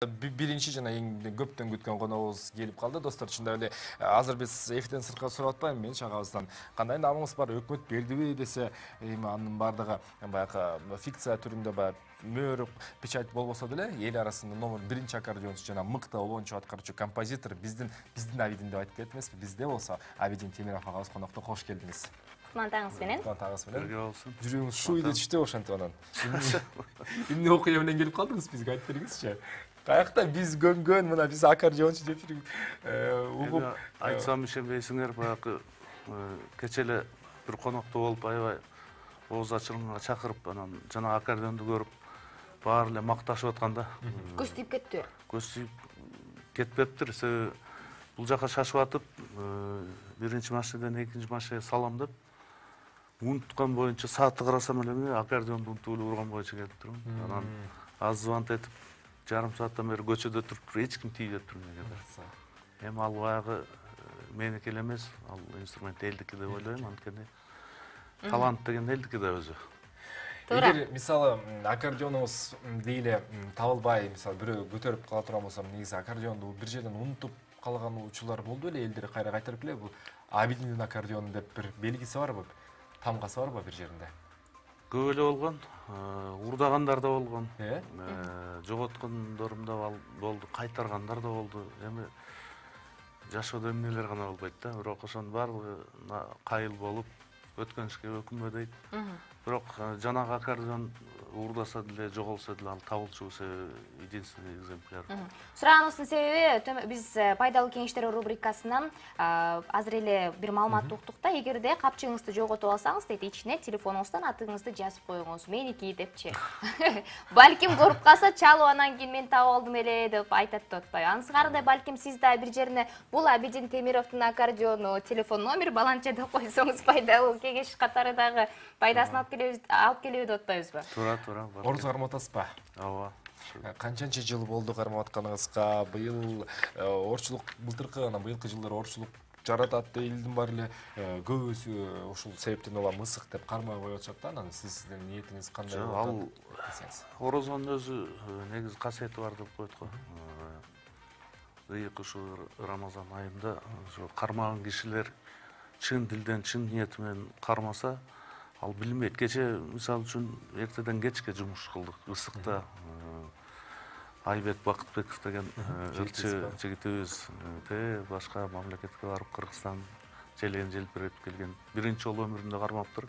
Биринчи жана эң көптөн күткөн коногубуз келип калды. Достор, чындап эле азыр биз эфирден сыртка сурап атпайбы, мен чагабыздан кандай намыңыз бар, өкмөт бердиби десе, эми анын бардыгы баягы фикция түрүндө баягы мөр печать болбосо деле эл арасында номер биринчи аккордеончу жана мыкты обончу аткаруучу композитор биздин Абидин деп айтып кетти эмеспи? Бизде болсо Абидин Темиров агабыз конокто. Кош келдиңиз. Кутмандагыңыз менен. Кутмандагыңыз менен. Бирге болсун. Жүрөгүңүз шу үйдө түштү ошентип анан. Эмне окуя менен келип калдыңыз, бизге айтып бериңизчи. Каякта биз көнгөн, мына биз аккордеончу деп угуп айтсам ишенбейсиңер, баягы кече эле бир конокто болуп аябай ооз ачылганга чакырып, анан жана аккордеонду көрүп баары эле макташып атканда Көз тийип кеттиби? көз тийип кетпептир. Себеби бул жака шашып атып, биринчи машинеден экинчи машинеге салам деп унуткан боюнча саатты карасам эле аккордеонду унутуп эле урган боюнча келип турмун. Анан аз звонт этип жарым сааттан бери көчөдө туруп эч ким тийбеп тур мега. Эми ал баягы меники эле эмес, ал инструмент элдики деп ойлойм, анткени талант деген элдики да өзү. Эгер мисалы аккордеонуңуз дейли табылбай, мисалы бирөө көтөрүп кала турган болсо, негизи аккордеонду бир жерден унутуп калган учурлар болду эле, элдер кайра кайтарып эле бул Абидиндин аккордеону деп бир белгиси барбы? Тамгасы барбы бир жеринде? Көп эле болгон, урдагандар да болгон, Э? жоготкондорум да болду, кайтаргандар да болду. Эми жашоодо эмнелер гана болбойт да, бирок ошонун баардыгы кайыл болуп, өткөн ишке өкүнбө дейт. Бирок жанагы аккордеон уурдаса деле, жоголсо деле ал табылчу единственный экземпляр. Сураганыбыздын себеби биз пайдалуу кеңештер рубрикасынан азыр эле бир маалымат уктук да, эгерде капчыгыңызды жоготуп алсаңыз, дейт, ичине телефонуңуздан атыңызды жазып коюңуз, меники депчи. Балким коруп калса, чалып анан кийин мен таап алдым эле деп айтат деп атпайбы? Анысыңардай балким сиз да бир жерине бул Абидин Темировдун аккордеону, телефон номер баланча деп койсоңуз пайдалуу кеңеш катары дагы пайдасын алып келеби деп атпайбызбы? Туура. Орус кармап атасызбы? Ооба. Канчанчы жыл болду кармап атканыңызга? Быйыл орчулук, былтыркы анан быйылкы жылдары орчулук жаратат элдин баары эле көбүсү ушул себептен улам мысык деп кармай коюп атышат да. Анан сиздин ниетиңиз кандай болот десеңиз? Орозонун өзү негизи касиети бар деп коет го. Ыйык ушул Рамазан айында ошо кармаган кишилер чын дилден, чын ниети менен кармаса, ал билинбейт. Кече мисалы үчүн эртеден кечке жумуш кылдык, ысыкта. Айбек Бакытбеков деген ырчы жигитибиз башка мамлекетке барып Кыргызстан желегин желпиретип келген. Биринчи жолу өмүрүндө кармаптыр.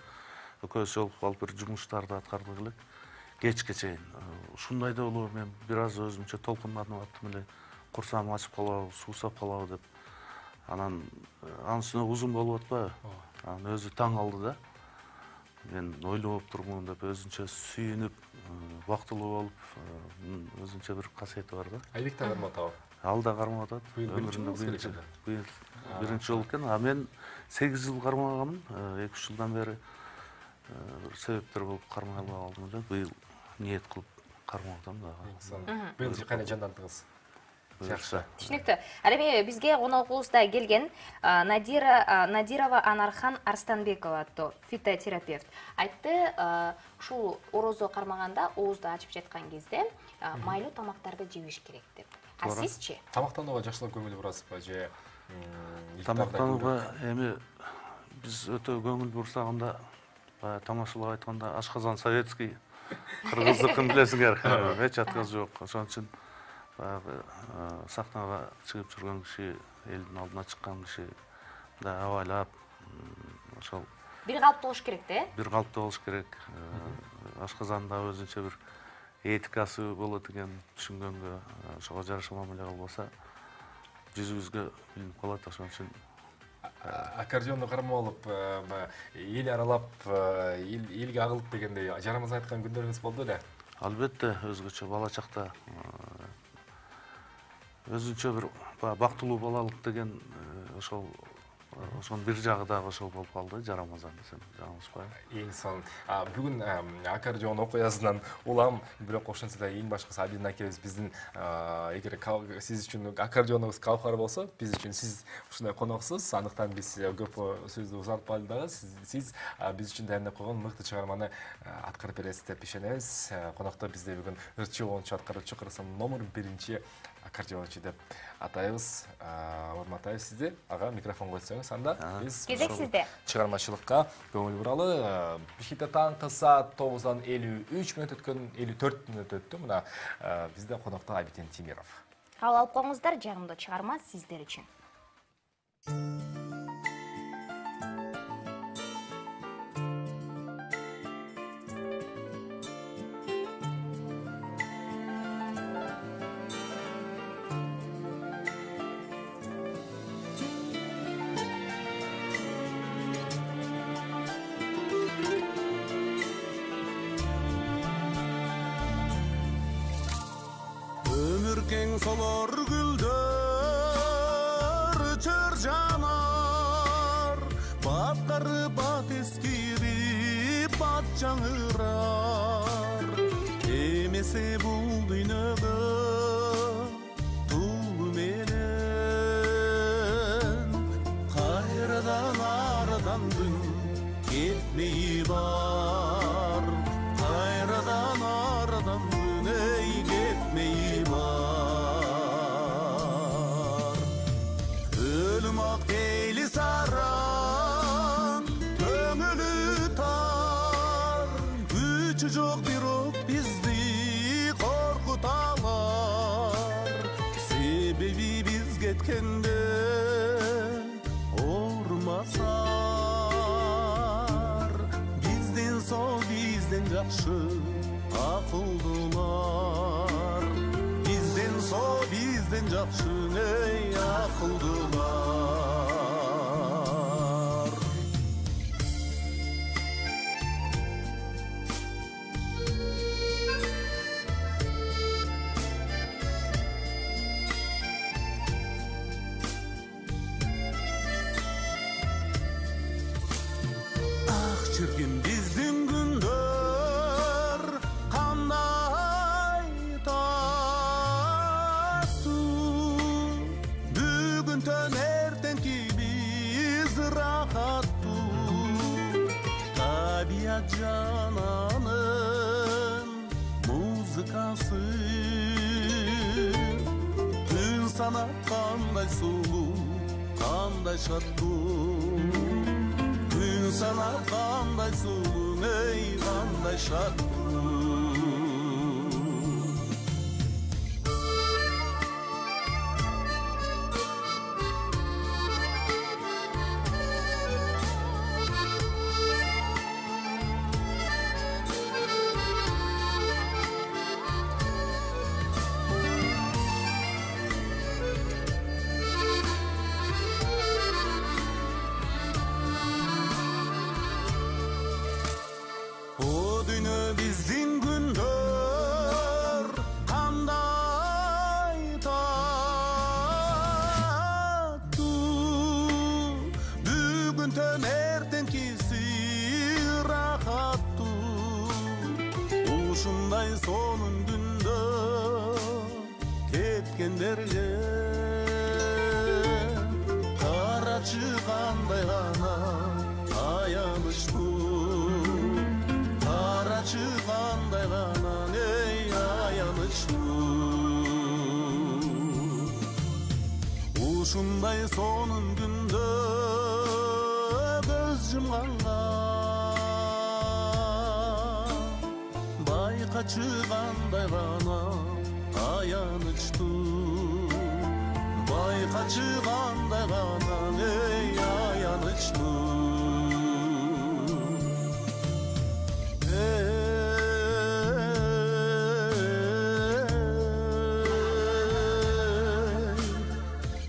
Экөөбүз жолугуп алып бир жумуштарды аткардык элек. Кечке чейин. Ушундай да болобу, мен бир аз өзүмчө толкунланып аттым эле. Курсагым ачып калабы, суусап калабы деп. Анан анын үстүнө узун болуп атпайбы? Анан өзү таң алды да. Мен ойлоп турмун деп өзүнчө сүйүнүп, бактылуу болуп, өзүнчө бир касиети бар да. Айбек да кармап атабы? Ал да кармап атат. Өмүрүндө биринчи жолу экен. А мен 8 жыл кармаганмын, 2-3 жылдан бери бир себептер болуп кармай албай калдым эле. Быйыл ниет кылып кармап атам дагы. Быйыл кайра жандандыңыз? Түшүнүктүү. Ал эми бизге коногубузда келген Надирова Анархан Арстанбекова аттуу фитотерапевт айтты, ушул орозо кармаганда оозду ачып жаткан кезде майлуу тамактарды жебиш керек деп. А сизчи? Тамактанууга жакшылап көңүл бурасызбы же? Тамактанууга эми биз өтө көңүл бурсаганда, тамашалап айтканда ашказан советский, кыргыздыкын билесиңер, эч отказ жок. Ошон үчүн баягы сахнага чыгып жүргөн киши, элдин алдына чыккан киши да абайлап, ошол бир калыпта болуш керек да, бир калыпта болуш керек. Ашказанда өзүнчө бир этикасы болот экен, түшүнгөнгө, ошого жараша мамиле кылбаса, жүзүбүзгө билинип калат. Ошон үчүн аккордеонду кармап алып, эл аралап, элге агылып дегендей жарымыз айткан күндөрүңүз болду эле? Албетте, өзгөчө бала чакта өзүнчө бир бактылуу балалык деген ошол ошонун бир жагы дагы ошол болуп калды, Жарамазан десем жаңылышпайм. Эң сонун. Бүгүн аккордеон окуясынан улам, бирок ошентсе да эң башкысы Абидин акебиз биздин эгер сиз үчүн аккордеонуңуз кавкар болсо, биз үчүн сиз ушундай коноксуз. Андыктан биз көп сөздү узартпайлы дагы. Сиз биз үчүн даярдап койгон мыкты чыгарманы аткарып бересиз деп ишенебиз. Конокто бизде бүгүн ырчы оончу аткаруучу, Кыргызстандын номер 1 аккордеончу деп атайбыз. Урматтайбыз сизди. Ага, микрофон койсоңуз, анда биз кезек сизде. Чыгармачылыкка көңүл буралы. Бишкекте таңкы саат 9:53 мүнөт өткөн, 54 мүнөт өттү. Мына бизде конокто Абидин Тимиров. Кабыл алып коюңуздар, жагымдуу чыгарма сиздер үчүн. Keng solar gülдөр çör janar, batqarı bat eskiri bat жаңырар. Emese bul dünögө tuğlu menen, kayradan aradan dün ketmeyi var. Kayradan aradan dün ey ketmeyi var. Deyli saran, köngülü tar, gücü жоқ бирок бизди коркуталар. Себеби биз кеткенде оорумасар, бизден сол, бизден жакшы акылдуулар. Бизден сол, бизден жакшы ey акылдуулар. Çirkin bizdin gündör kanday tattu. Bugün tön ertenki biz rahattu. Tabiat cananın muzikası. Gün sana kanday sulu, kanday şattu. Gün sana kanday sulun ey kanday şartlı. Bizdin gündör kanday tattu. Bugün tön ertenkisi rahattu. Ушундай сонун күндө кеткендерге карачы кандай гана аянычтуу. Kандай gana ey ayanычtуу. Ушундай сонун күндө көз жумганга байкачы кандай гана аянычтуу. Байкачы кандай гана ey ayanычtуу.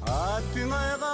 Аттың айга